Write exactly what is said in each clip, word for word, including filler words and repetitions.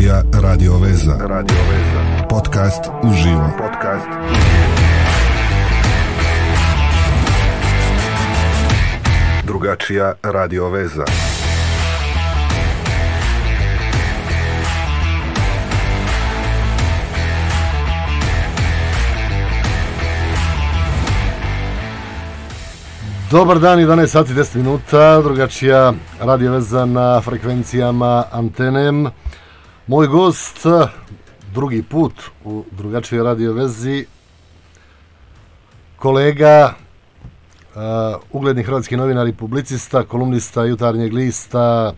Drugačija radio veza. Radio veza. Podcast uživo. Podcast uživo. Drugačija radio veza. Dobar dan, jedanaest sati deset minuta, drugačija radio veza na frekvencijama Antenem. Moj gost, drugi put u drugačijoj radio vezi, kolega, uh, ugledni hrvatski novinar i publicista, kolumnista Jutarnjeg lista,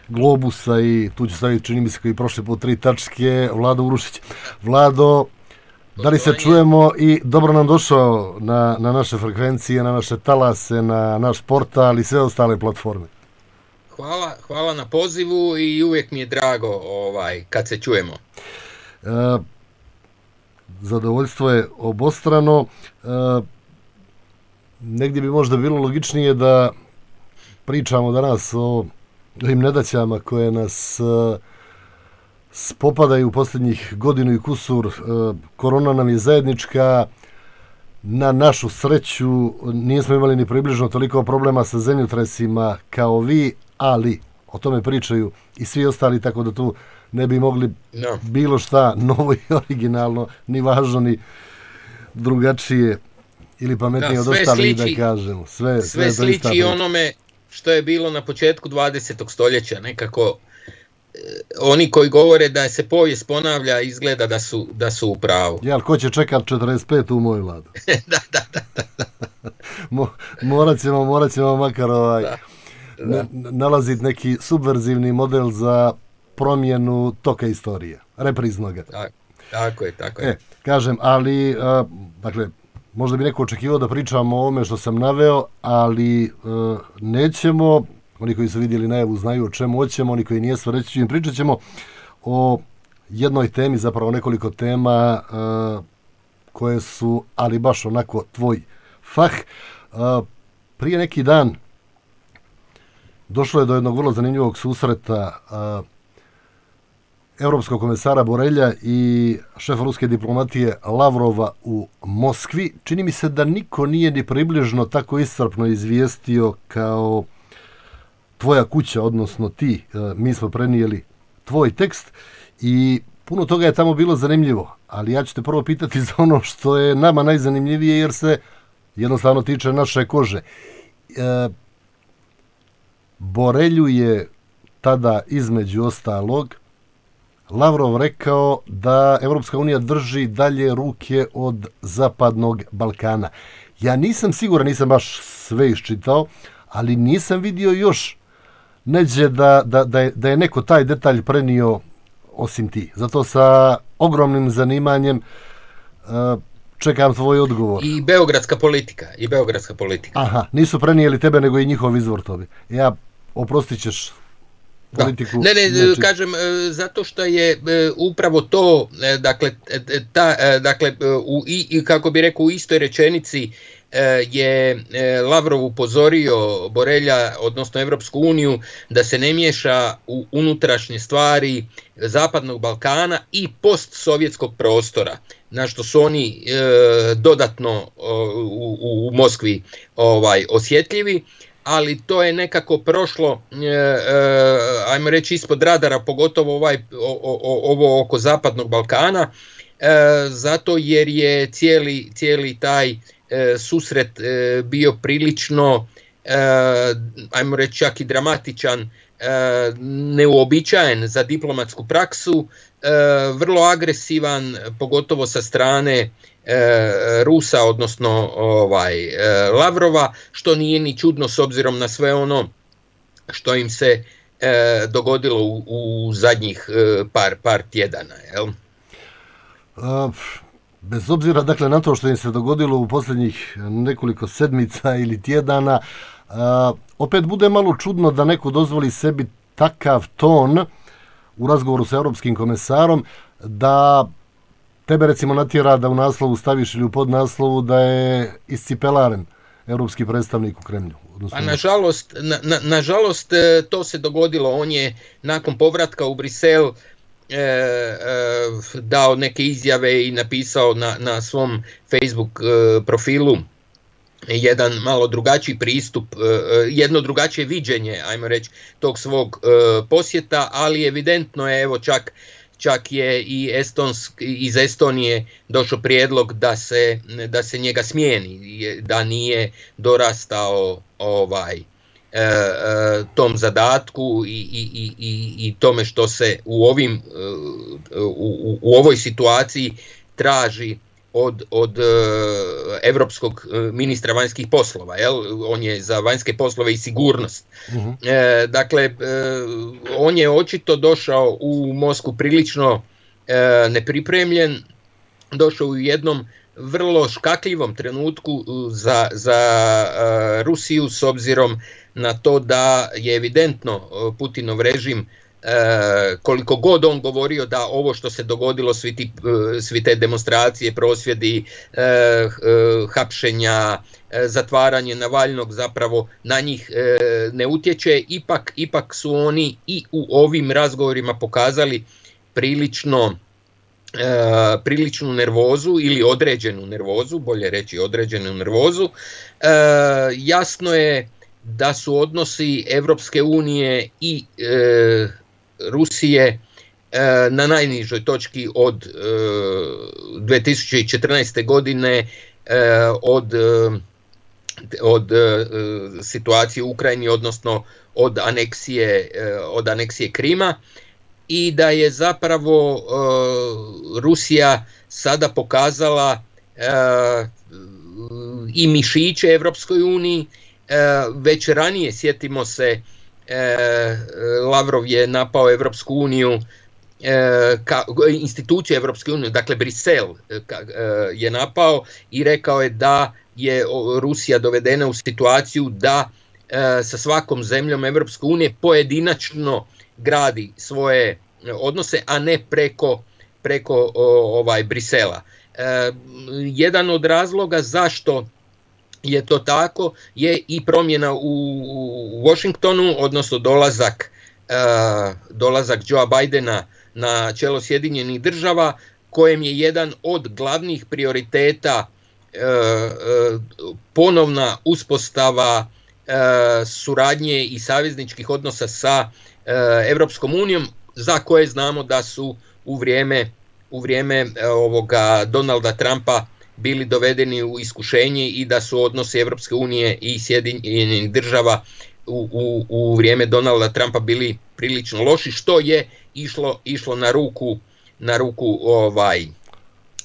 Globusa i tu ću staviti, čini mi se, koji prošli put tri tačke, Vlado Urušić. Vlado, da li se čujemo i dobro nam došao na, na naše frekvencije, na naše talase, na naš portal i sve ostale platforme. Hvala, hvala na pozivu i uvijek mi je drago ovaj, kad se čujemo. E, zadovoljstvo je obostrano. E, negdje bi možda bilo logičnije da pričamo danas o ovim nedaćama koje nas e, spopadaju u posljednjih godinu i kusur. E, korona nam je zajednička. Na našu sreću nismo imali ni približno toliko problema sa zemljotresima kao vi, ali o tome pričaju i svi ostali, tako da tu ne bi mogli no. bilo šta novo i originalno, ni važno, ni drugačije ili pametnije da, od ostalih da kažemo. Sve, sve, sve sliči onome što je bilo na početku dvadesetog stoljeća, nekako oni koji govore da se povijest ponavlja izgleda da su, da su u pravu. Jel, ko će čekat četrdeset pet u moju vladu? da, da, da, da. Mo, morat ćemo, morat ćemo makar ovaj, da, da. nalaziti neki subverzivni model za promjenu toka istorije, repriznoga. Tako, tako je, tako je. E, kažem, ali, a, dakle, možda bi neko očekivao da pričamo o ovome što sam naveo, ali a, nećemo. Oni koji su vidjeli najavu znaju o čemu hoćemo, oni koji nijesu, reći ću im, pričat ćemo o jednoj temi, zapravo nekoliko tema uh, koje su, ali baš onako tvoj fah. Uh, prije neki dan došlo je do jednog vrlo zanimljivog susreta uh, evropskog komesara Borelja i šefa ruske diplomatije Lavrova u Moskvi. Čini mi se da niko nije ni približno tako iscrpno izvijestio kao tvoja kuća, odnosno ti. Mi smo prenijeli tvoj tekst i puno toga je tamo bilo zanimljivo, ali ja ću te prvo pitati za ono što je nama najzanimljivije, jer se jednostavno tiče naše kože. E, Borelju je tada, između ostalog, Lavrov rekao da Evropska unija drži dalje ruke od Zapadnog Balkana. Ja nisam siguran, nisam baš sve iščitao, ali nisam vidio još neđe da, da, da, je, da je neko taj detalj prenio osim ti. Zato sa ogromnim zanimanjem uh, čekam tvoj odgovor. I beogradska politika. I beogradska politika. Aha, nisu prenijeli tebe nego i njihov izvor tobi. Ja, oprostit ćeš politiku. Da. Ne, ne, neči... kažem, zato što je upravo to, dakle, ta, dakle u, i, kako bi rekao, u istoj rečenici je Lavrov upozorio Borelja, odnosno Evropsku uniju, da se ne miješa u unutrašnje stvari Zapadnog Balkana i postsovjetskog prostora, na što su oni e, dodatno u, u, u Moskvi ovaj, osjetljivi, ali to je nekako prošlo, e, e, ajmo reći, ispod radara, pogotovo ovaj, o, o, ovo oko Zapadnog Balkana, e, zato jer je cijeli, cijeli taj E, susret e, bio prilično, e, ajmo reći, čak i dramatičan, e, neuobičajen za diplomatsku praksu, e, vrlo agresivan, pogotovo sa strane e, Rusa, odnosno ovaj, e, Lavrova, što nije ni čudno s obzirom na sve ono što im se e, dogodilo u, u zadnjih e, par, par tjedana, jel? Uh... Bez obzira, dakle, na to što im se dogodilo u posljednjih nekoliko sedmica ili tjedana, uh, opet bude malo čudno da neko dozvoli sebi takav ton u razgovoru sa europskim komesarom, da tebe recimo natjera da u naslovu staviš ili u podnaslovu da je iscipelaren europski predstavnik u Kremlju. A nažalost, na, na, nažalost to se dogodilo. On je nakon povratka u Brisel e, e, dao neke izjave i napisao na, na svom Facebook e, profilu jedan malo drugačiji pristup, jedno drugačije viđenje, ajmo reći, tog svog posjeta, ali evidentno je, evo čak, čak je i Estonsk, iz Estonije došao prijedlog da se, da se njega smijeni, da nije dorastao ovaj, tom zadatku i, i, i, i tome što se u, ovim, u, u ovoj situaciji traži od, od uh, evropskog ministra vanjskih poslova, jel? On je za vanjske poslove i sigurnost. Uh-huh. E, dakle, e, on je očito došao u Moskvu prilično e, nepripremljen, došao u jednom vrlo škakljivom trenutku za, za uh, Rusiju, s obzirom na to da je evidentno Putinov režim, koliko god on govorio da ovo što se dogodilo, svi, ti, svi te demonstracije, prosvjedi, hapšenja, zatvaranje Navalnog zapravo na njih ne utječe, ipak, ipak su oni i u ovim razgovorima pokazali prilično priličnu nervozu ili određenu nervozu, bolje reći određenu nervozu. Jasno je da su odnosi Evropske unije i e, Rusije e, na najnižoj točki od e, dvije tisuće četrnaeste. godine, e, od, e, od e, situacije u Ukrajini, odnosno od aneksije, e, od aneksije Krima, i da je zapravo e, Rusija sada pokazala e, i mišiće Evropskoj uniji. Već ranije, sjetimo se, Lavrov je napao Evropsku uniju, instituciju Evropske unije, dakle Brisel je napao i rekao je da je Rusija dovedena u situaciju da sa svakom zemljom Evropske unije pojedinačno gradi svoje odnose, a ne preko, preko ovaj Brisela. Jedan od razloga zašto je to tako je i promjena u Washingtonu, odnosno dolazak, uh, dolazak Joea Bidena na čelo Sjedinjenih država, kojem je jedan od glavnih prioriteta uh, uh, ponovna uspostava uh, suradnje i savezničkih odnosa sa uh, Evropskom unijom, za koje znamo da su u vrijeme, u vrijeme uh, ovoga Donalda Trumpa bili dovedeni u iskušenje i da su odnosi Evropske unije i Sjedinjenih država u, u, u vrijeme Donalda Trumpa bili prilično loši, što je išlo, išlo na ruku, na ruku ovaj, uh,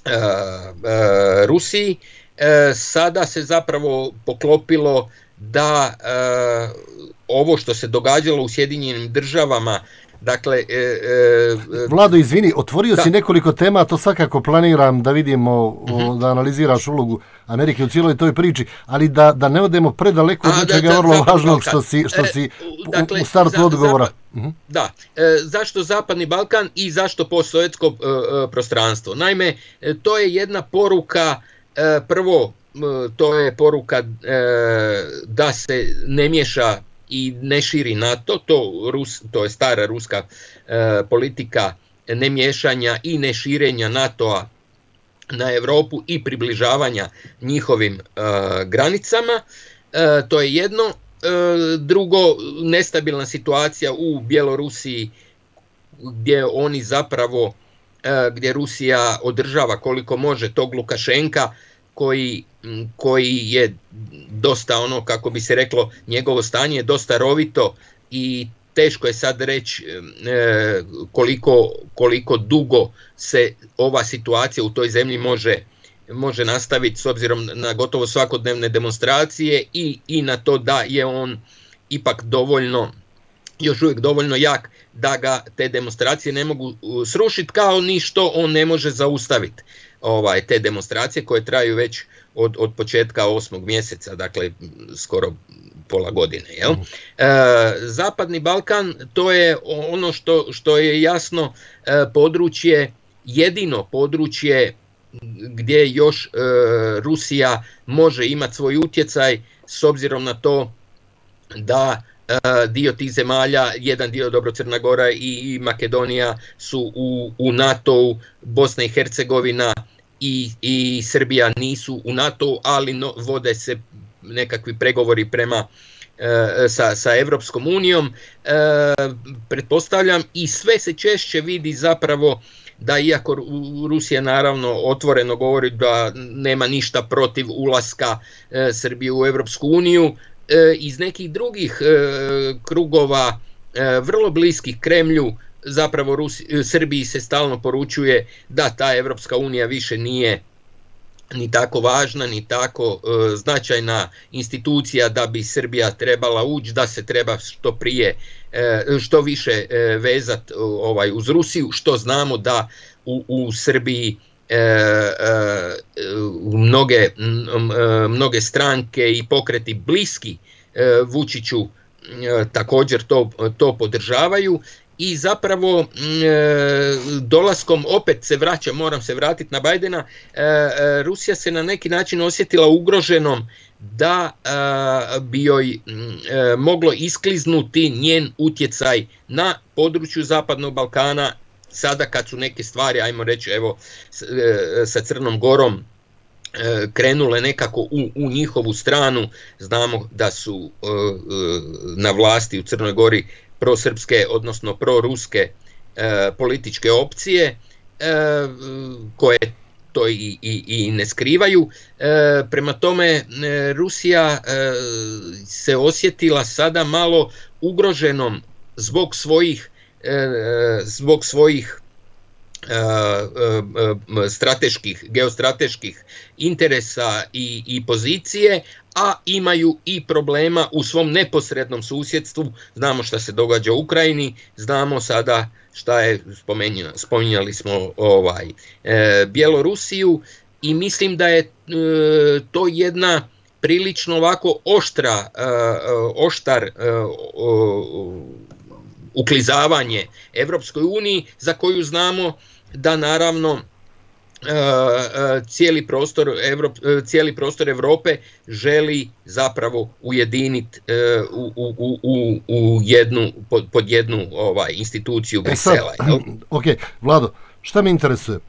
uh, Rusiji. Uh, sada se zapravo poklopilo da uh, ovo što se događalo u Sjedinjenim državama, dakle, e, e, Vlado, izvini, otvorio da. si nekoliko tema, to svakako planiram da vidimo, uh-huh. da analiziraš ulogu Amerike u cijeloj toj priči, ali da, da ne odemo predaleko od nečega vrlo važnog što si, što si e, dakle, u startu za, odgovora. Zapad, uh-huh. Da, e, zašto Zapadni Balkan i zašto postsovjetsko e, prostranstvo? Naime, to je jedna poruka, e, prvo, to je poruka e, da se ne miješa i ne širi NATO, to, Rus, to je stara ruska e, politika nemiješanja i neširenja NATO-a na Europu i približavanja njihovim e, granicama. E, to je jedno. E, drugo, nestabilna situacija u Bjelorusiji, gdje oni zapravo, e, gdje Rusija održava koliko može tog Lukašenka, koji, koji je dosta, ono, kako bi se reklo, njegovo stanje je dosta rovito i teško je sad reći e, koliko, koliko dugo se ova situacija u toj zemlji može, može nastaviti, s obzirom na gotovo svakodnevne demonstracije i, i na to da je on ipak dovoljno, još uvijek dovoljno jak da ga te demonstracije ne mogu srušiti, kao ni što on ne može zaustaviti ovaj, te demonstracije koje traju već od, od početka osmog mjeseca, dakle skoro pola godine. Jel? Uh-huh. E, Zapadni Balkan, to je ono što, što je jasno e, područje, jedino područje gdje još e, Rusija može imati svoj utjecaj, s obzirom na to da dio tih zemalja, jedan dio dobro Crna Gora i Makedonija su u, u NATO-u, Bosna i Hercegovina i, i Srbija nisu u NATO-u, ali no, vode se nekakvi pregovori prema sa, sa Evropskom unijom, e, pretpostavljam, i sve se češće vidi zapravo da, iako Rusija naravno otvoreno govori da nema ništa protiv ulaska e, Srbije u Evropsku uniju, e, iz nekih drugih e, krugova e, vrlo bliskih Kremlju, zapravo Rusi, Srbiji se stalno poručuje da ta Evropska unija više nije ni tako važna, ni tako e, značajna institucija da bi Srbija trebala ući, da se treba što prije, e, što više e, vezat ovaj, uz Rusiju, što znamo da u, u Srbiji e, e, mnoge, mnoge stranke i pokreti bliski e, Vučiću e, također to, to podržavaju. I zapravo e, dolaskom, opet se vraća, moram se vratiti na Bajdena, e, Rusija se na neki način osjetila ugroženom da e, bi joj e, moglo iskliznuti njen utjecaj na području Zapadnog Balkana, sada kad su neke stvari, ajmo reći, evo, e, sa Crnom Gorom e, krenule nekako u, u njihovu stranu. Znamo da su e, na vlasti u Crnoj Gori prosrpske, odnosno proruske e, političke opcije e, koje to i, i, i ne skrivaju. E, prema tome e, Rusija e, se osjetila sada malo ugroženom zbog svojih, e, zbog svojih e, e, strateških, geostrateških interesa i, i pozicije, a imaju i problema u svom neposrednom susjedstvu. Znamo šta se događa u Ukrajini, znamo sada šta je, spominjali smo ovaj, e, Bjelorusiju, i mislim da je e, to jedna prilično ovako oštra, e, oštar e, o, uklizavanje Evropskoj uniji, za koju znamo da naravno cijeli prostor, Evrop, cijeli prostor Evrope želi zapravo ujediniti u, u, u, u jednu, pod, pod jednu ovaj, instituciju Brisela. E sad, ok, Vlado, šta me interesuje?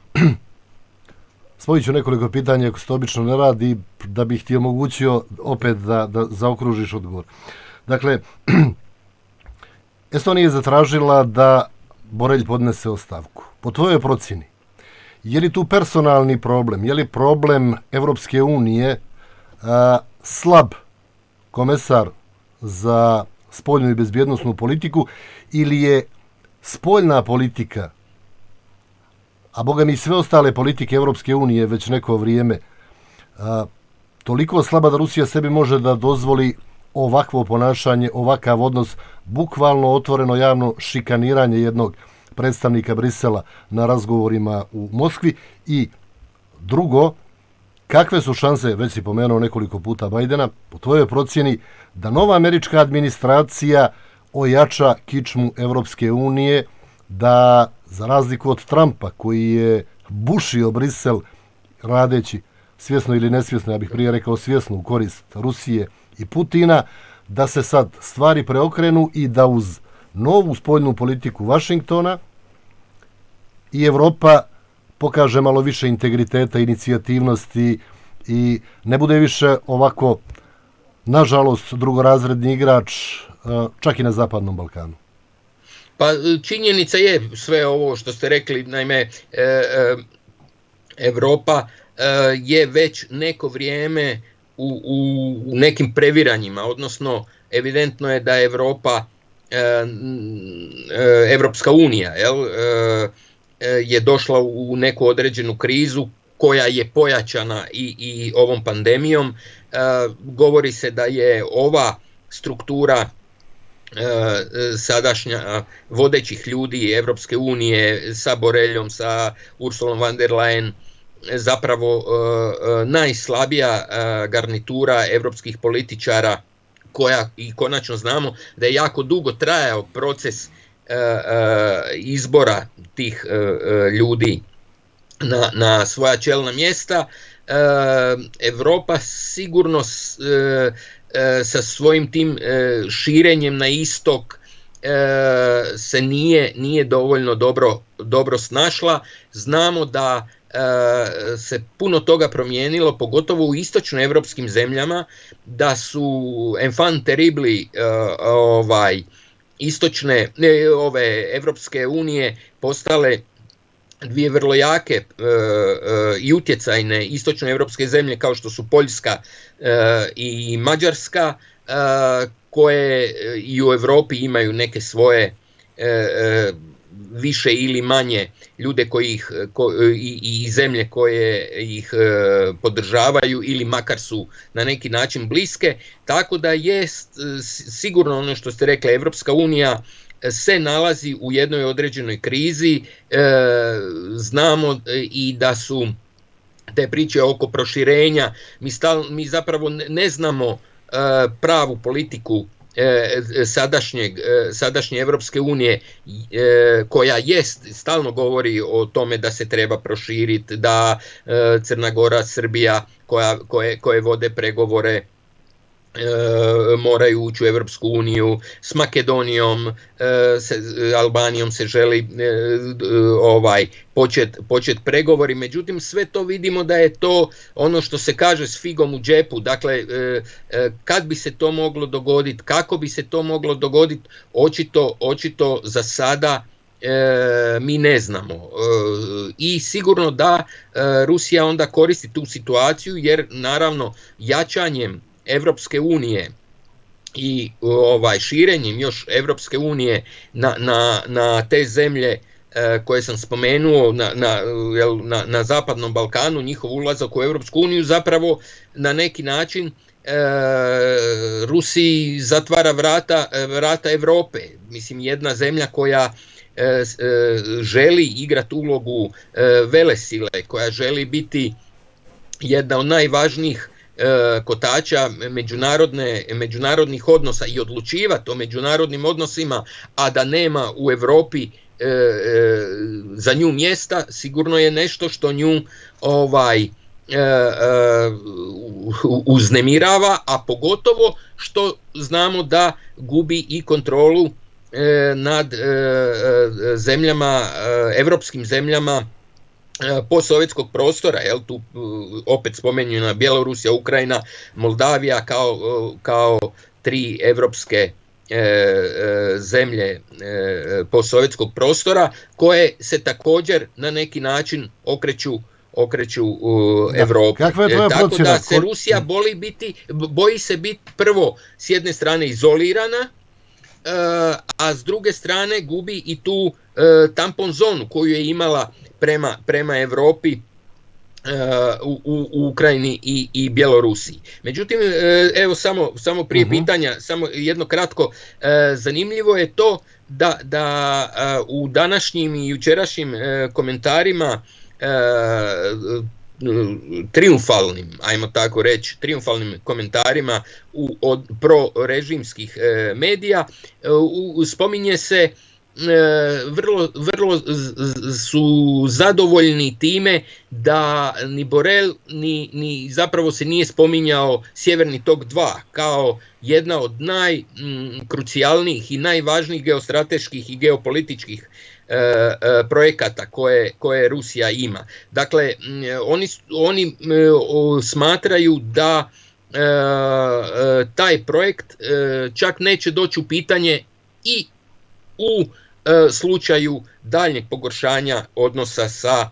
Spojit ću nekoliko pitanja, ako se to obično ne radi, da bih ti omogućio opet da, da zaokružiš odgovor. Dakle, Estonija je zatražila da Borelj podnese ostavku. Po tvojoj procjeni, je li tu personalni problem, je li problem Evropske unije a, slab komesar za spoljnu i bezbjednosnu politiku, ili je spoljna politika, a boga mi sve ostale politike Evropske unije već neko vrijeme, a, toliko slaba da Rusija sebi može da dozvoli ovakvo ponašanje, ovakav odnos, bukvalno otvoreno javno šikaniranje jednog predstavnika Brisela na razgovorima u Moskvi? I drugo, kakve su šanse, već si pomenuo nekoliko puta Bajdena, po tvojoj procjeni, da nova američka administracija ojača kičmu Evropske unije, da za razliku od Trumpa, koji je bušio Brisel radeći svjesno ili nesvjesno, ja bih prije rekao svjesno, u korist Rusije i Putina, da se sad stvari preokrenu i da uz novu spoljnu politiku Vašingtona i Evropa pokaže malo više integriteta, inicijativnosti i ne bude više ovako, nažalost, drugorazredni igrač čak i na Zapadnom Balkanu. Pa činjenica je sve ovo što ste rekli, naime, e, e, Evropa e, je već neko vrijeme u, u, u nekim previranjima, odnosno evidentno je da Evropa, e, e, Evropska unija, jel, e, je došla u neku određenu krizu koja je pojačana i, i ovom pandemijom. E, govori se da je ova struktura sadašnja vodećih ljudi Evropske unije sa Boreljom, sa Ursulom von der Leyen zapravo najslabija garnitura evropskih političara, koja, i konačno znamo da je jako dugo trajao proces izbora tih ljudi na, na svoja čelna mjesta. Evropa sigurno sa svojim tim širenjem na istok se nije, nije dovoljno dobro, dobro snašla. Znamo da se puno toga promijenilo, pogotovo u istočnoevropskim zemljama, da su enfant terribli ovaj, istočne ove Evropske unije postale dvije vrlo jake e, e, i utjecajne istočnoevropske zemlje kao što su Poljska e, i Mađarska, e, koje i u Europi imaju neke svoje e, e, više ili manje ljude koji ih, ko, i, i zemlje koje ih e, podržavaju ili makar su na neki način bliske, tako da jest sigurno ono što ste rekli, Evropska unija se nalazi u jednoj određenoj krizi, e, znamo i da su te priče oko proširenja, mi, stal, mi zapravo ne znamo e, pravu politiku e, sadašnjeg, e, sadašnje Evropske unije e, koja jest, stalno govori o tome da se treba proširiti, da e, Crna Gora, Srbija koja, koje, koje vode pregovore E, moraju ući u Evropsku uniju, s Makedonijom, e, se, Albanijom se želi e, ovaj počet, počet pregovori, međutim sve to vidimo da je to ono što se kaže s figom u džepu, dakle e, e, kad bi se to moglo dogoditi, kako bi se to moglo dogoditi, očito, očito za sada e, mi ne znamo e, i sigurno da e, Rusija onda koristi tu situaciju jer naravno jačanjem Evropske unije i ovaj širenjem još Evropske unije na, na, na te zemlje e, koje sam spomenuo na, na, na, na Zapadnom Balkanu, njihov ulazak u Evropsku uniju zapravo na neki način e, Rusiji zatvara vrata, vrata Evrope. Mislim, jedna zemlja koja e, e, želi igrati ulogu e, velesile, koja želi biti jedna od najvažnijih kotača međunarodne, međunarodnih odnosa i odlučivati o međunarodnim odnosima, a da nema u Europi e, e, za nju mjesta, sigurno je nešto što nju ovaj, e, e, uznemirava, a pogotovo što znamo da gubi i kontrolu e, nad e, zemljama, e, evropskim zemljama postsovjetskog prostora, jel, tu opet spomenjena Bjelorusija, Ukrajina, Moldavija kao, kao tri evropske e, e, zemlje e, postsovjetskog prostora koje se također na neki način okreću okreću u Evropi. Kakva je tvoja Tako procjena? Da se Rusija boli biti, boji se biti prvo s jedne strane izolirana, a s druge strane gubi i tu tampon zonu koju je imala prema, prema Evropi u, u, u Ukrajini i, i Bjelorusiji. Međutim, evo samo, samo prije uh-huh. pitanja, samo jedno kratko, zanimljivo je to da, da u današnjim i jučerašnjim komentarima triumfalnim, ajmo tako reći, triumfalnim komentarima u, od prorežimskih e, medija e, u, spominje se e, vrlo, vrlo su zadovoljni time da ni Borel ni, ni zapravo se nije spominjao Sjeverni tok dva kao jedna od najkrucijalnijih i najvažnijih geostrateških i geopolitičkih E, e, projekata koje, koje Rusija ima. Dakle, oni, oni e, o, smatraju da e, e, taj projekt e, čak neće doći u pitanje i u e, slučaju daljnjeg pogoršanja odnosa sa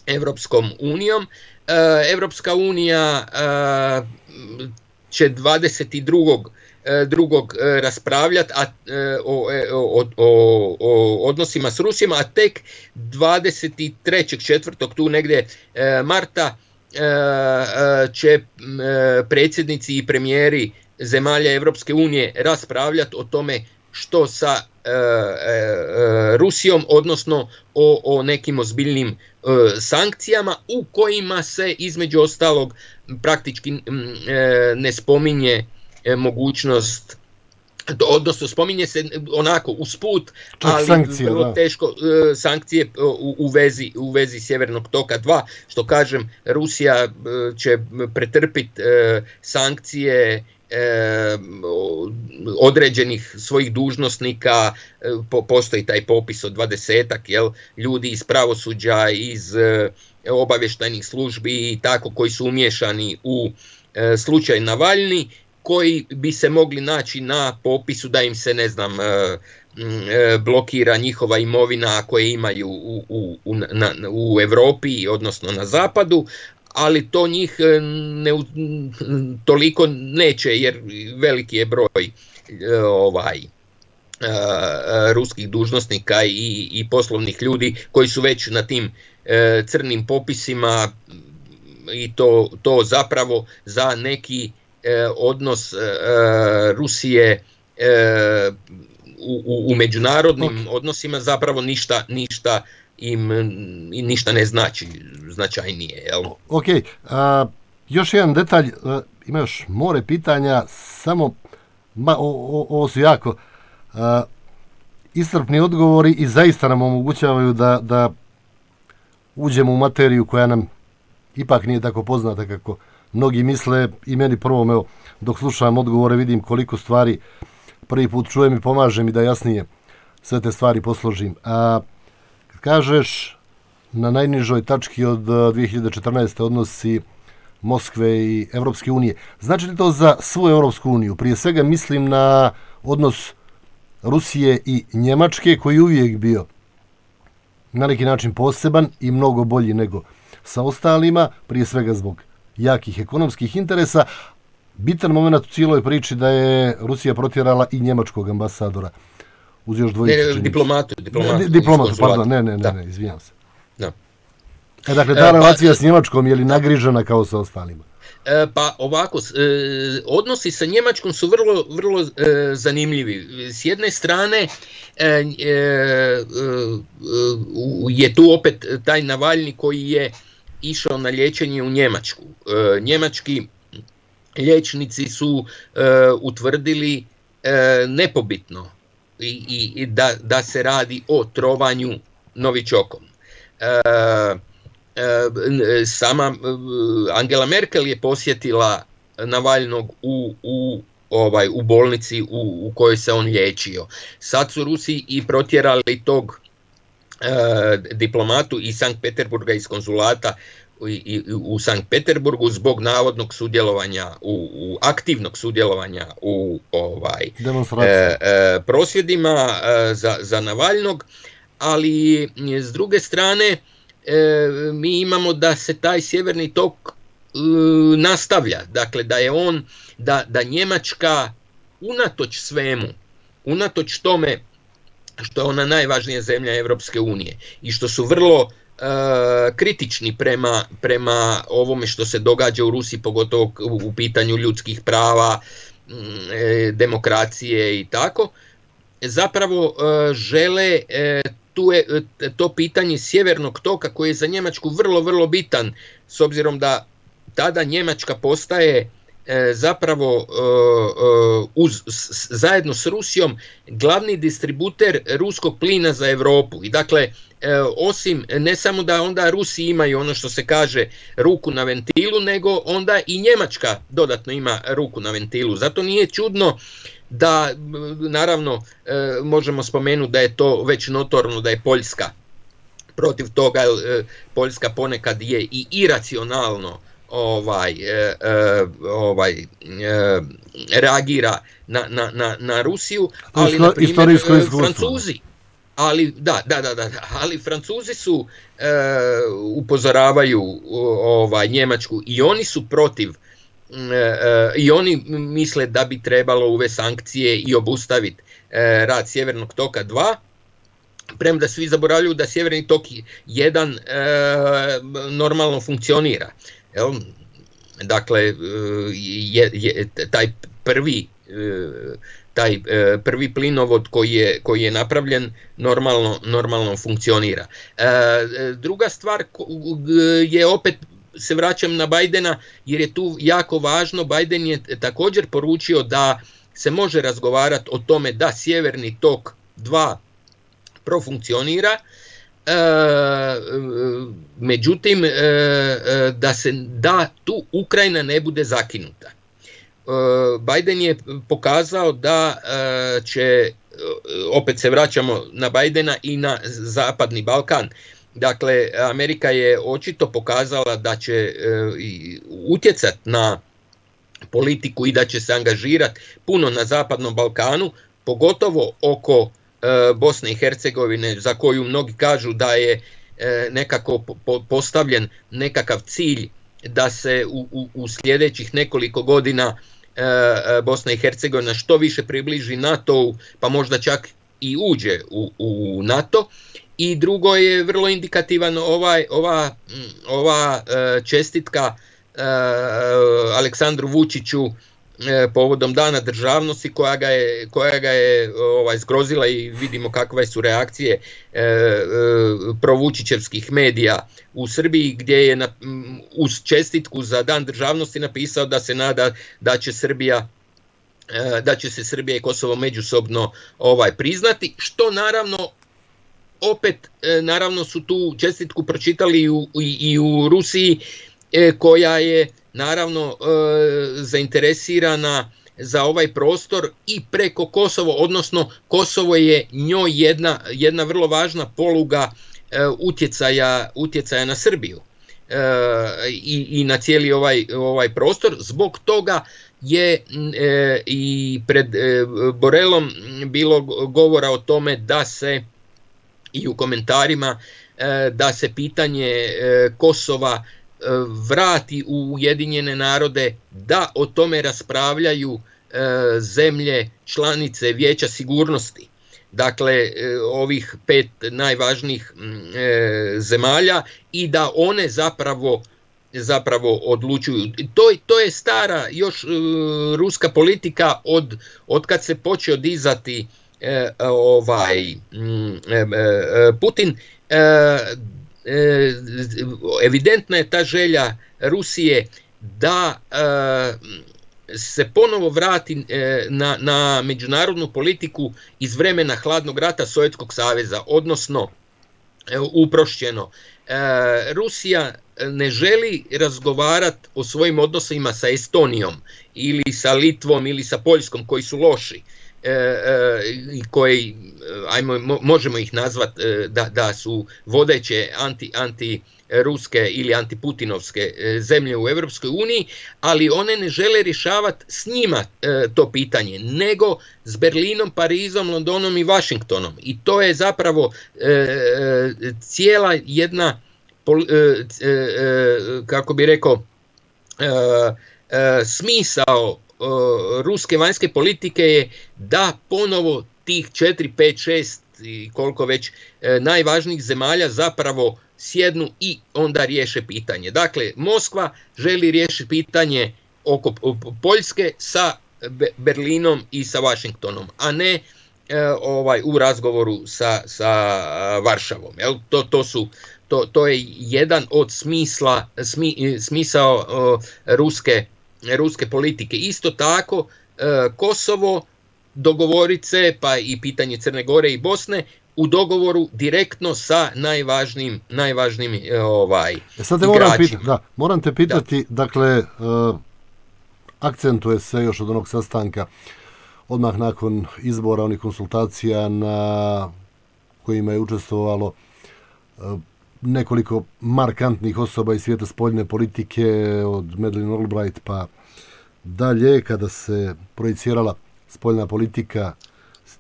Evropskom unijom. E, Evropska unija e, će dvadeset drugog drugog raspravljati a, o, o, o, o odnosima s Rusijom, a tek dvadeset trećeg četvrtog tu negdje marta će predsjednici i premijeri zemalja Evropske unije raspravljati o tome što sa e, e, Rusijom, odnosno o, o nekim ozbiljnim e, sankcijama u kojima se između ostalog praktički e, ne spominje mogućnost, odnosno spominje se onako usput, ali sankcije, vrlo da. teško uh, sankcije u, u, vezi, u vezi Sjevernog toka dva, što kažem, Rusija uh, će pretrpiti uh, sankcije E, određenih svojih dužnosnika, po, postoji taj popis od dvadesetak, jel, ljudi iz pravosuđa, iz e, obavještajnih službi i tako, koji su umiješani u e, slučaj Navalni, koji bi se mogli naći na popisu da im se, ne znam, e, e, blokira njihova imovina koje imaju u, u, u, na, u Europi, odnosno na zapadu, ali to njih ne, toliko neće, jer veliki je broj ovaj, ruskih dužnosnika i, i poslovnih ljudi koji su već na tim crnim popisima, i to, to zapravo za neki odnos Rusije u, u, u međunarodnim okay. odnosima zapravo ništa, ništa im ništa ne znači značajnije. Jel? Ok, a, još jedan detalj, a, ima još more pitanja, samo ma, o, o, ovo su jako a, iscrpni odgovori i zaista nam omogućavaju da, da uđemo u materiju koja nam ipak nije tako poznata kako mnogi misle, i meni prvo, evo, dok slušam odgovore vidim koliko stvari prvi put čujem i pomaže mi da jasnije sve te stvari posložim. A kažeš na najnižoj tački od dvije hiljade četrnaeste. odnosi Moskve i Evropske unije. Znači li to za svu Evropsku uniju? Prije svega mislim na odnos Rusije i Njemačke, koji je uvijek bio na neki način poseban i mnogo bolji nego sa ostalima, prije svega zbog jakih ekonomskih interesa. Bitan moment u cijeloj priči da je Rusija protjerala i njemačkog ambasadora. Uz još dvojicu, ne, diplomatu, diplomatu, ne, diplomatu, pardon, ne, ne, ne, ne, izvijam se. Da. E, dakle, ta e, relacija pa, s Njemačkom je li nagrižena kao sa ostalima? E, pa ovako, e, odnosi sa Njemačkom su vrlo, vrlo e, zanimljivi. S jedne strane e, e, e, je tu opet taj Navalni koji je išao na liječenje u Njemačku. E, njemački liječnici su e, utvrdili e, nepobitno i, i da, da se radi o trovanju novičokom. E, e, sama Angela Merkel je posjetila Navalnog u, u, ovaj, u bolnici u, u kojoj se on liječio. Sad su Rusi i protjerali tog e, diplomatu iz Sankt Peterburga, iz konzulata i, i, u Sankt Peterburgu, zbog navodnog sudjelovanja, u, u aktivnog sudjelovanja u ovaj, e, e, prosvjedima e, za, za Navalnog, ali s druge strane e, mi imamo da se taj sjeverni tok e, nastavlja, dakle da je on, da, da Njemačka unatoč svemu, unatoč tome što je ona najvažnija zemlja Evropske unije i što su vrlo e, kritični prema, prema ovome što se događa u Rusiji, pogotovo u, u pitanju ljudskih prava, e, demokracije i tako, zapravo e, žele e, tu je to pitanje sjevernog toka koji je za Njemačku vrlo, vrlo bitan, s obzirom da tada Njemačka postaje e, zapravo e, uz, s, zajedno s Rusijom glavni distributer ruskog plina za Europu. I dakle, e, osim ne samo da onda Rusi imaju ono što se kaže ruku na ventilu, nego onda i Njemačka dodatno ima ruku na ventilu. Zato nije čudno da, naravno, e, možemo spomenuti da je to već notorno da je Poljska protiv toga, e, Poljska ponekad je i iracionalno ovaj, e, e, ovaj, e, reagira na, na, na, na Rusiju, ali na primjer Francuzi, ali da, da, da, da, ali Francuzi su e, upozoravaju ovaj, Njemačku i oni su protiv. I oni misle da bi trebalo uvesti sankcije i obustaviti rad Sjevernog toka dva, premda svi zaboravljaju da Sjeverni tok jedan normalno funkcionira. Dakle, je, je, taj prvi taj prvi plinovod koji je, koji je napravljen normalno, normalno funkcionira. Druga stvar je opet, se vraćam na Bajdena, jer je tu jako važno. Bajden je također poručio da se može razgovarati o tome da Sjeverni tok dva profunkcionira, e, međutim e, da se da tu Ukrajina ne bude zakinuta. Biden je pokazao da će, opet se vraćamo na Bidena i na Zapadni Balkan, dakle Amerika je očito pokazala da će utjecati na politiku i da će se angažirati puno na Zapadnom Balkanu, pogotovo oko Bosne i Hercegovine, za koju mnogi kažu da je nekako postavljen nekakav cilj da se u, u, u sljedećih nekoliko godina Bosna i Hercegovina što više približi NATO-u, pa možda čak i uđe u, u NATO. I drugo je vrlo indikativan ovaj, ova, ova čestitka Aleksandru Vučiću povodom Dana državnosti, koja ga je, koja ga je ovaj, zgrozila, i vidimo kakve su reakcije e, e, provučićevskih medija u Srbiji, gdje je na, uz čestitku za Dan državnosti napisao da se nada da će Srbija e, da će se Srbija i Kosovo međusobno ovaj priznati, što naravno opet e, naravno su tu čestitku pročitali i u, i, i u Rusiji, e, koja je naravno e, zainteresirana za ovaj prostor i preko Kosovo, odnosno Kosovo je njoj jedna, jedna vrlo važna poluga e, utjecaja, utjecaja na Srbiju e, i, i na cijeli ovaj, ovaj prostor. Zbog toga je e, i pred e, Borelom bilo govora o tome da se i u komentarima e, da se pitanje e, Kosova vrati u Ujedinjene narode, da o tome raspravljaju e, zemlje članice Vijeća sigurnosti. Dakle, e, ovih pet najvažnijih e, zemalja, i da one zapravo zapravo odlučuju. To, to je stara još e, ruska politika od, od kad se počeo dizati e, ovaj m, e, e, Putin. E, evidentna je ta želja Rusije da se ponovo vrati na, na međunarodnu politiku iz vremena hladnog rata Sovjetskog saveza, odnosno uprošćeno. Rusija ne želi razgovarati o svojim odnosima sa Estonijom ili sa Litvom ili sa Poljskom, koji su loši i koji, ajmo, možemo ih nazvati da, da su vodeće anti, anti-ruske ili antiputinovske zemlje u Europskoj uniji, ali one ne žele rješavati s njima to pitanje, nego s Berlinom, Parizom, Londonom i Washingtonom. I to je zapravo cijela jedna, kako bi rekao, smisao ruske vanjske politike je da ponovo tih četiri, pet, šest i koliko već najvažnijih zemalja zapravo sjednu i onda riješe pitanje. Dakle, Moskva želi riješiti pitanje oko Poljske sa Berlinom i sa Washingtonom, a ne ovaj u razgovoru sa, sa Varšavom. Jel? To, to, su, to, to je jedan od smisla, smi, smisao uh, ruske ruske politike. Isto tako Kosovo, dogovorice, pa i pitanje Crne Gore i Bosne u dogovoru direktno sa najvažnijim najvažnijim ovaj e sad te moram pitati, da, moram te pitati, da. dakle uh, akcentuje se još od onog sastanka odmah nakon izbora onih konsultacija na kojima je učestvovalo uh, nekoliko markantnih osoba iz svijeta spoljne politike, od Madeleine Albright pa dalje, kada se projicirala spoljna politika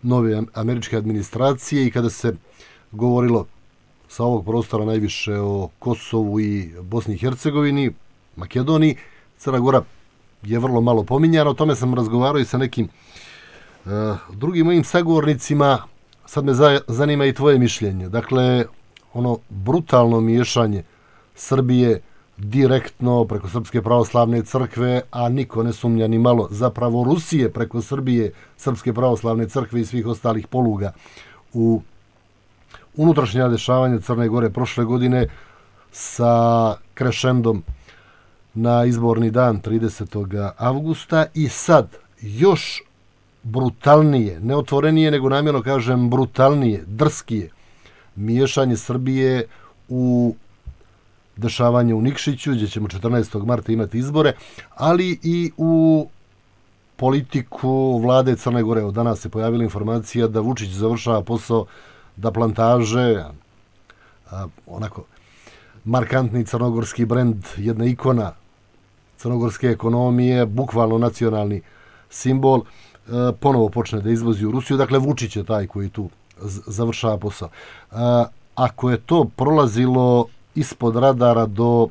nove američke administracije i kada se govorilo sa ovog prostora najviše o Kosovu i Bosni i Hercegovini, Makedoniji. Crna Gora je vrlo malo pominjana, o tome sam razgovarao i sa nekim uh, drugim mojim sagovornicima. Sad me za, zanima i tvoje mišljenje. Dakle, ono brutalno miješanje Srbije direktno preko Srpske pravoslavne crkve, a niko ne sumnja ni malo zapravo Rusije preko Srbije, Srpske pravoslavne crkve i svih ostalih poluga u unutrašnja dešavanja Crne Gore prošle godine sa krešendom na izborni dan tridesetog avgusta i sad još brutalnije, ne otvorenije, nego namjerno kažem brutalnije, drskije miješanje Srbije u dešavanje u Nikšiću, gdje ćemo četrnaestog marta imati izbore, ali i u politiku vlade Crne Gore. Od danas se pojavila informacija da Vučić završava posao da plantaže, a, onako, markantni crnogorski brend, jedna ikona crnogorske ekonomije, bukvalno nacionalni simbol, a, ponovo počne da izvozi u Rusiju. Dakle, Vučić je taj koji tu završava posao. A, ako je to prolazilo ispod radara do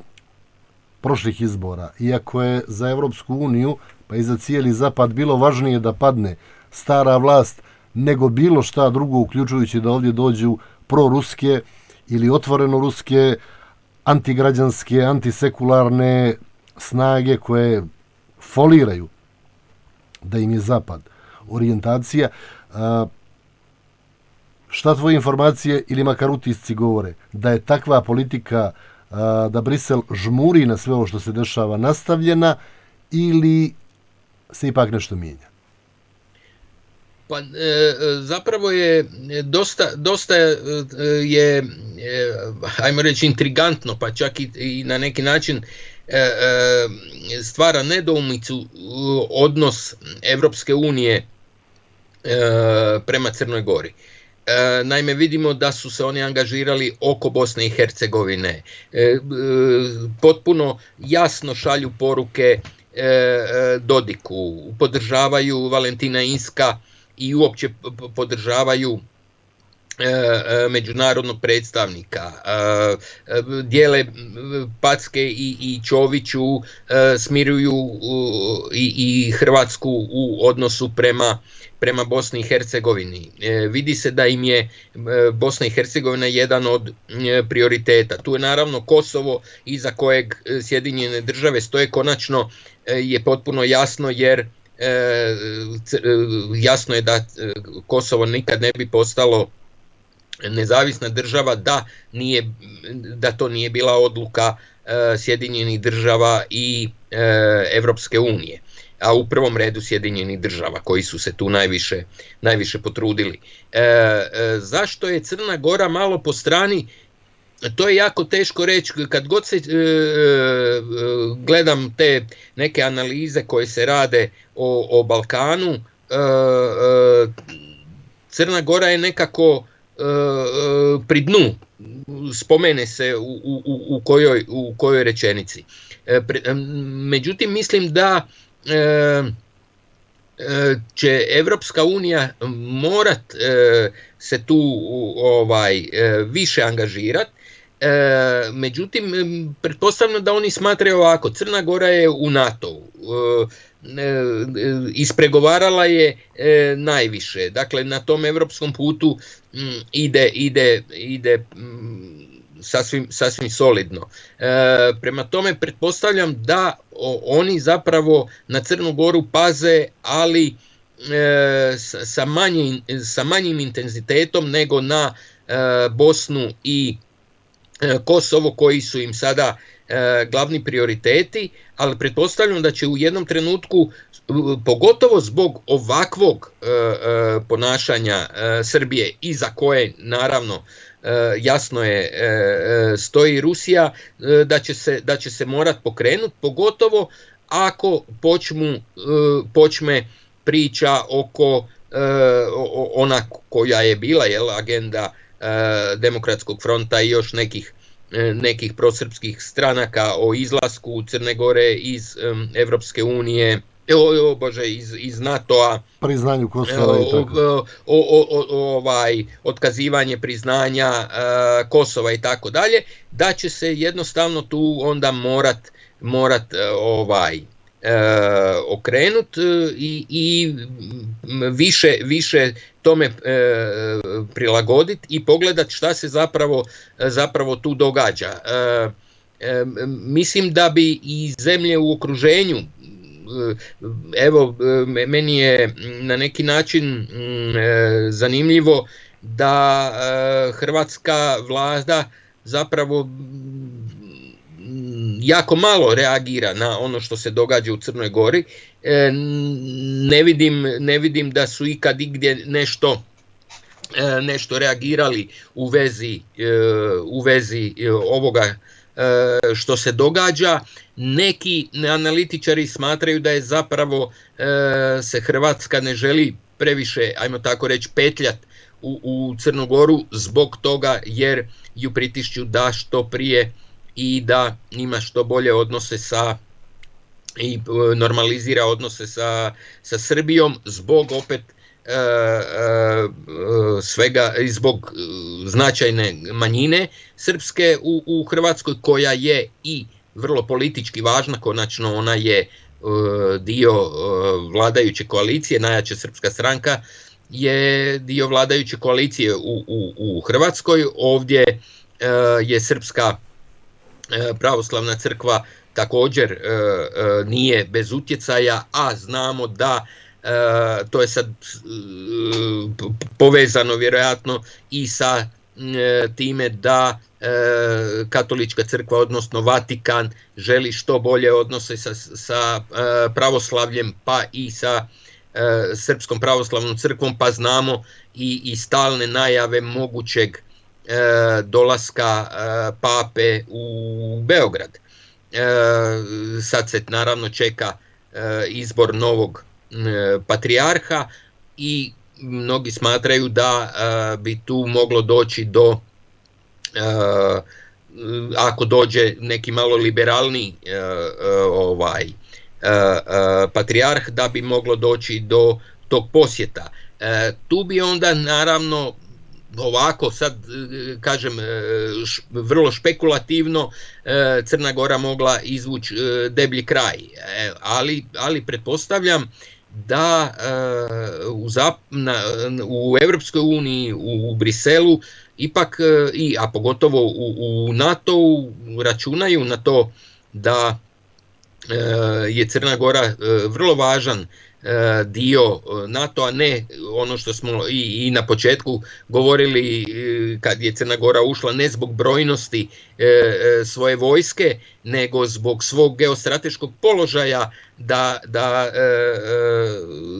prošlih izbora, iako je za Evropsku uniju pa i za cijeli zapad bilo važnije da padne stara vlast nego bilo šta drugo, uključujući da ovdje dođu proruske ili otvoreno ruske, antigrađanske, antisekularne snage koje foliraju da im je zapad orijentacija. Šta tvoje informacije ili makar utisci govore? Da je takva politika, da Brisel žmuri na sve ovo što se dešava nastavljena ili se ipak nešto mijenja? Pa e, zapravo je dosta, dosta je, ajmo reći, intrigantno, pa čak i, i na neki način e, e, stvara nedoumicu odnos Evropske unije e, prema Crnoj Gori. E, naime, vidimo da su se oni angažirali oko Bosne i Hercegovine. E, e, potpuno jasno šalju poruke e, Dodiku, podržavaju Valentina Inzka i uopće podržavaju e, međunarodnog predstavnika. E, dijele packe i, i Čoviću, e, smiruju i, i Hrvatsku u odnosu prema prema Bosni i Hercegovini. E, vidi se da im je e, Bosna i Hercegovina jedan od e, prioriteta. Tu je naravno Kosovo, iza kojeg Sjedinjene države stoje, konačno e, je potpuno jasno, jer e, c, e, jasno je da e, Kosovo nikad ne bi postalo nezavisna država da, nije, da to nije bila odluka e, Sjedinjenih država i e, Evropske unije, a u prvom redu Sjedinjenih država koji su se tu najviše, najviše potrudili. E, e, zašto je Crna Gora malo po strani? To je jako teško reći. Kad god se e, e, gledam te neke analize koje se rade o, o Balkanu, e, e, Crna Gora je nekako e, e, pri dnu. Spomene se u, u, u, kojoj, u kojoj rečenici. E, pre, međutim, mislim da E, će Evropska unija morat e, se tu ovaj e, više angažirati. E, međutim, pretpostavljam da oni smatraju ovako: Crna Gora je u NATO-u, e, e, ispregovarala je e, najviše, dakle na tom evropskom putu m, ide, ide, ide m, Sasvim, sasvim solidno. E, prema tome pretpostavljam da o, oni zapravo na Crnu Goru paze, ali e, sa, sa, manjim, sa manjim intenzitetom nego na e, Bosnu i e, Kosovo, koji su im sada e, glavni prioriteti, ali pretpostavljam da će u jednom trenutku, pogotovo zbog ovakvog e, e, ponašanja e, Srbije, iza koje naravno jasno je stoji Rusija, da će se, da će se morat pokrenuti, pogotovo ako počmu, počme priča oko ona koja je bila, jel, agenda Demokratskog fronta i još nekih, nekih prosrpskih stranaka o izlasku Crne Gore iz Evropske unije, O, o Bože, iz, iz NATO-a, priznanju Kosova i tako. O, o, o, ovaj, otkazivanje priznanja uh, Kosova i tako dalje, da će se jednostavno tu onda morat, morat uh, ovaj, uh, okrenut uh, i, i više, više tome uh, prilagoditi i pogledat šta se zapravo, zapravo tu događa. Uh, uh, mislim da bi i zemlje u okruženju, evo, meni je na neki način zanimljivo da hrvatska vlada zapravo jako malo reagira na ono što se događa u Crnoj Gori. Ne vidim, ne vidim da su ikad igdje nešto nešto reagirali u vezi, u vezi ovoga što se događa. Neki analitičari smatraju da je zapravo se Hrvatska ne želi previše, ajmo tako reći, petljat u, u Crnu Goru zbog toga jer ju pritišću da što prije i da ima što bolje odnose sa i normalizira odnose sa, sa Srbijom zbog opet e, e, svega i zbog značajne manjine srpske u, u Hrvatskoj koja je i vrlo politički važna, konačno ona je e, dio e, vladajuće koalicije, najjača srpska stranka je dio vladajuće koalicije u, u, u Hrvatskoj. Ovdje e, je Srpska e, pravoslavna crkva također e, e, nije bez utjecaja, a znamo da e, to je sad e, povezano vjerojatno i sa e, time da e, katolička crkva, odnosno Vatikan, želi što bolje odnose sa, sa e, pravoslavljem pa i sa e, Srpskom pravoslavnom crkvom, pa znamo i, i stalne najave mogućeg e, dolaska e, pape u Beograd. E, sad se naravno čeka e, izbor novog e, patrijarha i mnogi smatraju da e, bi tu moglo doći do, e, ako dođe neki malo liberalni e, e, ovaj e, e, patrijarh, da bi moglo doći do tog posjeta. E, tu bi onda naravno ovako sad kažem vrlo špekulativno Crna Gora mogla izvući deblji kraj, ali, ali pretpostavljam da u, Zap, na, u Europskoj uniji, u Briselu ipak, i, a pogotovo u, u NATO-u računaju na to da je Crna Gora vrlo važan dio NATO-a, ne ono što smo i, i na početku govorili kad je Crna Gora ušla, ne zbog brojnosti e, svoje vojske, nego zbog svog geostrateškog položaja da, da e,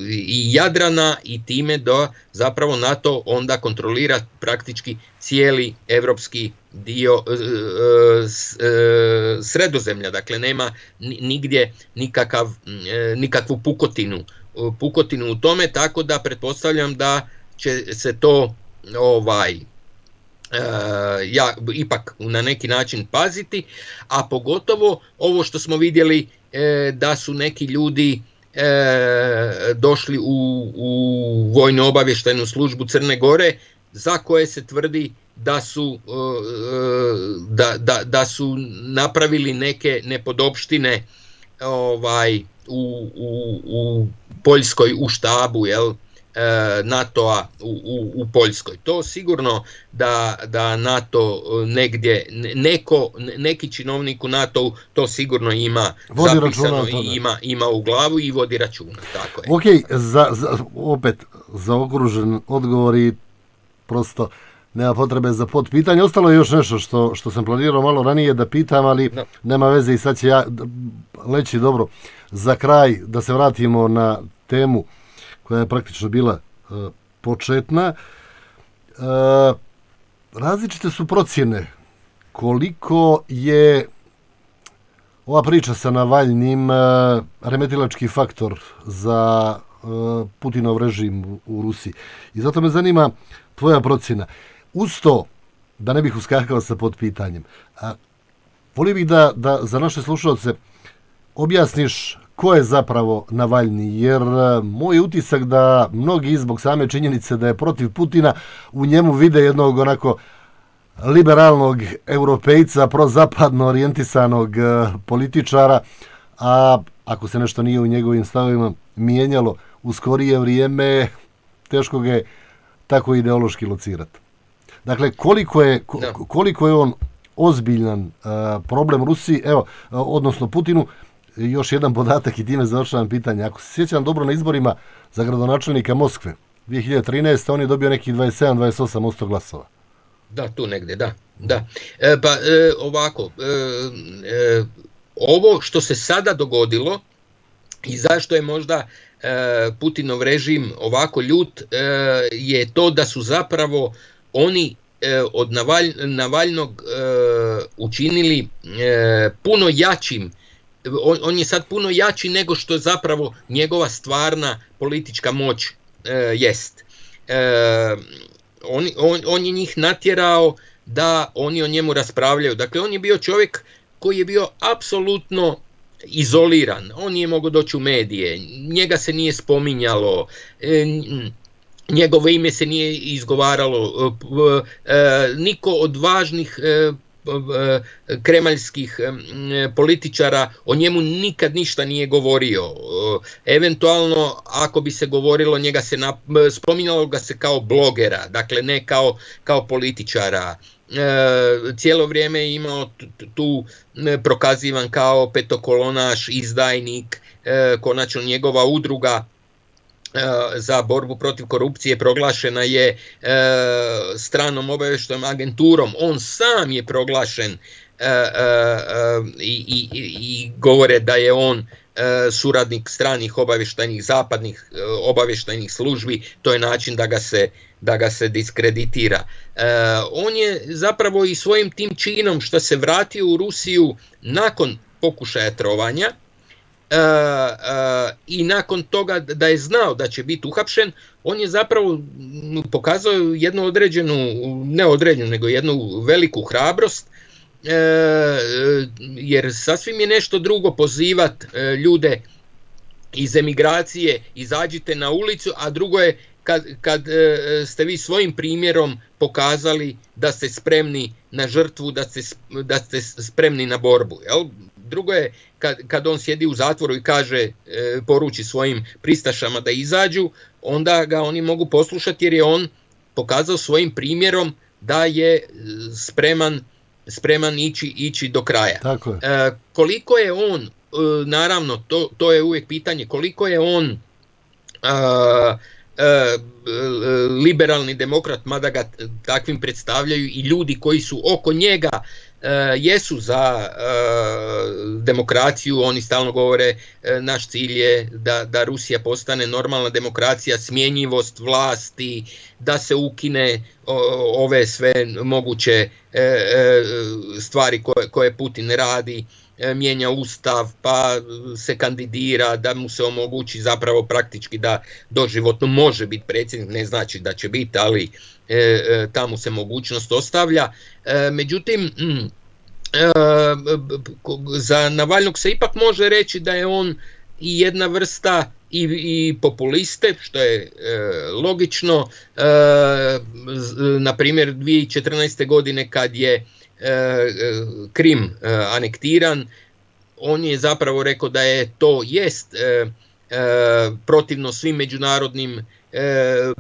i Jadrana, i time da zapravo NATO onda kontrolira praktički cijeli evropski dio e, e, Sredozemlja, dakle nema nigdje nikakav, e, nikakvu pukotinu, pukotinu u tome, tako da pretpostavljam da će se to ovaj e, ja, ipak na neki način paziti, a pogotovo ovo što smo vidjeli e, da su neki ljudi e, došli u, u vojno obavještajnu službu Crne Gore za koje se tvrdi da su, da, da, da su napravili neke nepodopštine ovaj, u, u, u Poljskoj, u štabu, jel, NATO-a u, u, u Poljskoj. To sigurno da, da NATO negdje, neko, neki činovnik u NATO-u to sigurno ima vodi zapisano i ima, ima u glavu i vodi računa. Tako je. Ok, za, za, opet zaokružen odgovor i prosto nema potrebe za potpitanje. Ostalo je još nešto što, što sam planirao malo ranije da pitam, ali no. nema veze i sad će ja leći dobro. Za kraj da se vratimo na temu koja je praktično bila uh, početna. Uh, različite su procjene koliko je ova priča sa Navalnim uh, remetilački faktor za uh, Putinov režim u, u Rusiji. I zato me zanima tvoja procjena. Uz to, da ne bih uskakao sa potpitanjem, a, volio bih da, da za naše slušalce objasniš ko je zapravo Navalni, jer a, moj utisak da mnogi zbog same činjenice da je protiv Putina u njemu vide jednog onako liberalnog europejca, prozapadno orijentisanog a, političara, a ako se nešto nije u njegovim stavovima mijenjalo u skorije vrijeme, teško ga je tako ideološki locirati. Dakle, koliko je, koliko je on ozbiljan uh, problem Rusiji, evo, uh, odnosno Putinu, još jedan podatak i time završavam pitanje. Ako se sjećam dobro, na izborima za gradonačelnika Moskve dvije hiljade trinaeste. on je dobio nekih dvadeset sedam do dvadeset osam posto glasova. Da, tu negdje, da. da. E, pa e, ovako, e, e, ovo što se sada dogodilo i zašto je možda e, Putinov režim ovako ljut, e, je to da su zapravo oni od Navalj, Navaljnog učinili puno jačim. On, on je sad puno jači nego što zapravo njegova stvarna politička moć jest. On, on, on je njih natjerao da oni o njemu raspravljaju. Dakle, on je bio čovjek koji je bio apsolutno izoliran. On nije mogao doći u medije, njega se nije spominjalo, njegovo ime se nije izgovaralo, niko od važnih kremaljskih političara o njemu nikad ništa nije govorio. Eventualno, ako bi se govorilo, njega se na, spominjalo ga se kao blogera, dakle ne kao, kao političara. Cijelo vrijeme je imao tu prokazivan kao petokolonaš, izdajnik. Konačno njegova udruga za borbu protiv korupcije proglašena je stranom obavještajnom agenturom. On sam je proglašen i, i, i govore da je on suradnik stranih obavještajnih, zapadnih obavještajnih službi. To je način da ga se, da ga se diskreditira. On je zapravo i svojim tim činom što se vratio u Rusiju nakon pokušaja trovanja, Uh, uh, i nakon toga da je znao da će biti uhapšen, on je zapravo pokazao jednu određenu, ne određenu, nego jednu veliku hrabrost, uh, jer sasvim je nešto drugo pozivat uh, ljude iz emigracije, izađite na ulicu, a drugo je kad, kad uh, ste vi svojim primjerom pokazali da ste spremni na žrtvu, da ste, da ste spremni na borbu, jel? Drugo je kad, kad on sjedi u zatvoru i kaže, e, poruči svojim pristašama da izađu, onda ga oni mogu poslušati jer je on pokazao svojim primjerom da je spreman, spreman ići, ići do kraja. Tako je. E, koliko je on, e, naravno, to, to je uvijek pitanje, koliko je on a, a, liberalni demokrat, mada ga takvim predstavljaju i ljudi koji su oko njega, Uh, jesu za uh, demokraciju. Oni stalno govore uh, naš cilj je da, da Rusija postane normalna demokracija, smjenjivost vlasti, da se ukine uh, ove sve moguće uh, uh, stvari koje, koje Putin radi, uh, mijenja ustav pa se kandidira, da mu se omogući zapravo praktički da doživotno može biti predsjednik, ne znači da će biti, ali E, e, tamo se mogućnost ostavlja. E, međutim, mm, e, za Navaljnog se ipak može reći da je on i jedna vrsta i, i populiste, što je e, logično. E, na primjer, dvije tisuće četrnaeste. godine kad je e, Krim e, anektiran, on je zapravo rekao da je to jest e, e, protivno svim međunarodnim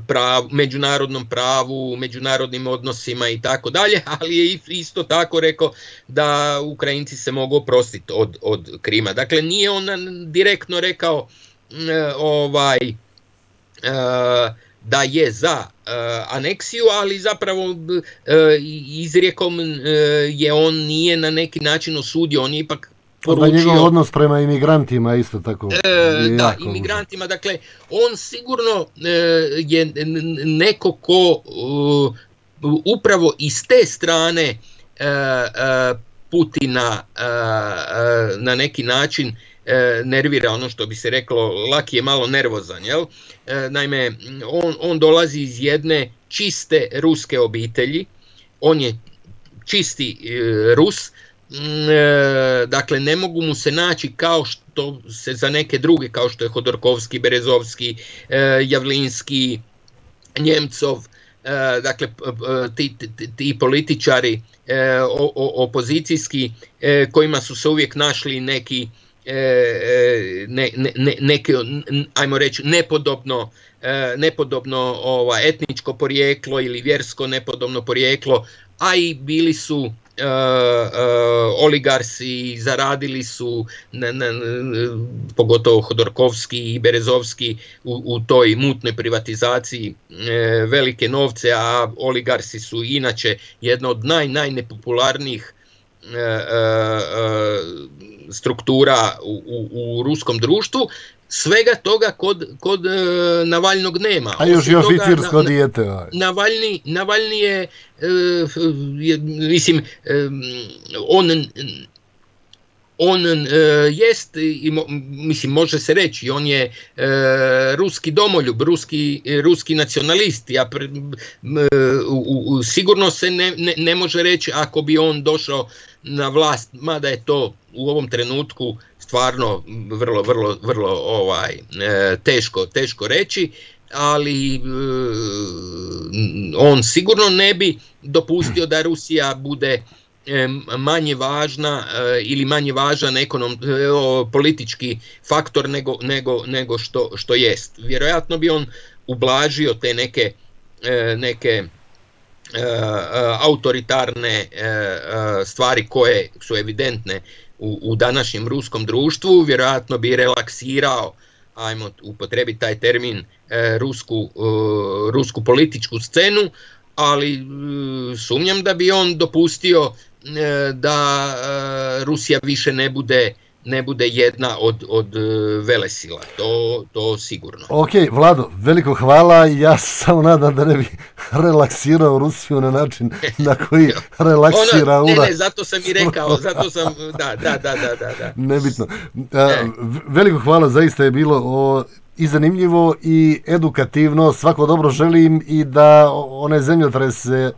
Prav, međunarodnom pravu, međunarodnim odnosima i tako dalje, ali je isto tako rekao da Ukrajinci se mogu oprostiti od, od Krima. Dakle, nije on direktno rekao ovaj, da je za aneksiju, ali zapravo izrijekom je on nije na neki način osudio, on je ipak poručio, da njegov odnos prema imigrantima isto tako. E, da, imigrantima, dakle, on sigurno e, je neko ko e, upravo iz te strane e, e, Putina e, e, na neki način e, nervira, ono što bi se reklo, Laki je malo nervozan, jel? E, naime, on, on dolazi iz jedne čiste ruske obitelji, on je čisti e, Rus. Dakle, ne mogu mu se naći kao što se za neke druge, kao što je Hodorkovski, Berezovski, Javlinski, Njemcov, dakle ti, ti, ti političari opozicijski kojima su se uvijek našli neki ne, ne, ne, neke, ajmo reći, nepodobno nepodobno ova, etničko porijeklo ili vjersko nepodobno porijeklo, a i bili su Uh, uh, oligarsi, zaradili su na, na, pogotovo Hodorkovski i Berezovski u, u toj mutnoj privatizaciji uh, velike novce, a oligarsi su inače jedna od naj, najnepopularnijih uh, uh, struktura u, u, u ruskom društvu. Svega toga kod, kod e, Navalnog nema. A još i oficirsko dijete. Navalni, Navalni je, e, je mislim, e, on on e, jest, i mo, mislim, može se reći, on je e, ruski domoljub, ruski, ruski nacionalist. Ja pre, u, u, sigurno se ne, ne, ne može reći ako bi on došao na vlast, mada je to u ovom trenutku stvarno vrlo, vrlo, vrlo ovaj, e, teško, teško reći, ali e, on sigurno ne bi dopustio da Rusija bude e, manje važna e, ili manje važan ekonom, e, politički faktor nego, nego, nego što, što jest. Vjerojatno bi on ublažio te neke, e, neke e, autoritarne e, stvari koje su evidentne U, u današnjem ruskom društvu, vjerojatno bi relaksirao, ajmo upotrebiti taj termin, e, rusku, e, rusku političku scenu, ali e, sumnjam da bi on dopustio e, da e, Rusija više ne bude ne bude jedna od, od velesila, to, to sigurno. Ok, Vlado, veliko hvala, ja samo nadam da ne bi relaksirao Rusiju na način na koji relaksira Ona, ne, ne, zato sam i rekao, zato sam, da, da, da, da, da. Nebitno. A, veliko hvala, zaista je bilo o, i zanimljivo i edukativno, svako dobro želim i da one zemljotrese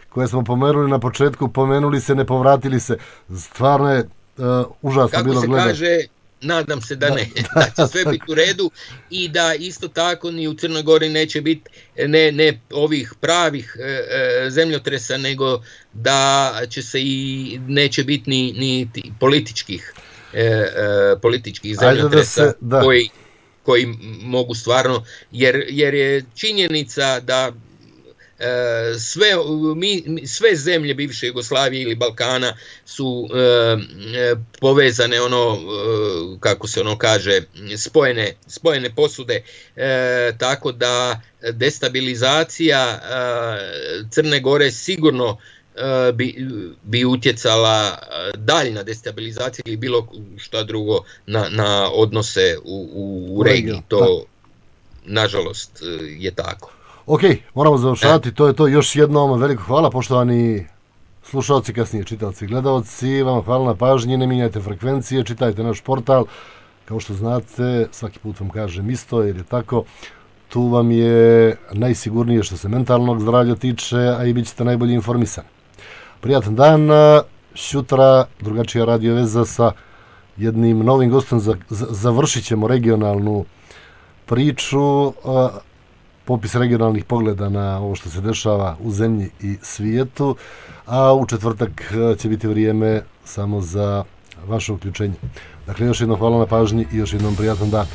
koje smo pomenuli na početku, pomenuli se, ne povratili se, stvarno je Uh, užasno kako bilo se gledati. Kaže, nadam se da ne, da, da će sve biti u redu i da isto tako ni u Crnoj Gori neće biti ne, ne ovih pravih e, zemljotresa, nego da će se i neće biti ni, ni političkih e, e, političkih zemljotresa da se, koji, koji mogu stvarno, jer, jer je činjenica da Sve, mi, sve zemlje bivše Jugoslavije ili Balkana su e, povezane, ono, e, kako se ono kaže, spojene, spojene posude, e, tako da destabilizacija e, Crne Gore sigurno e, bi, bi utjecala, daljna destabilizacija ili bilo šta drugo na, na odnose u, u, u regiji. To, nažalost, je tako. Ok, moramo završati, to je to. Još jednom veliko hvala, poštovani slušalci, kasnije čitaoci i gledalci. Vam hvala na pažnji, ne mijenjajte frekvencije, čitajte naš portal. Kao što znate, svaki put vam kažem isto, jer je tako. Tu vam je najsigurnije što se mentalnog zdravlja tiče, a i bit ćete najbolje informisani. Prijatan dan, sutra drugačija radio veza sa jednim novim gostom. Završit ćemo regionalnu priču, popis regionalnih pogleda na ovo što se dešava u zemlji i svijetu, a u četvrtak će biti vrijeme samo za vaše uključenje. Dakle, još jednom hvala na pažnji i još jednom prijatan dan.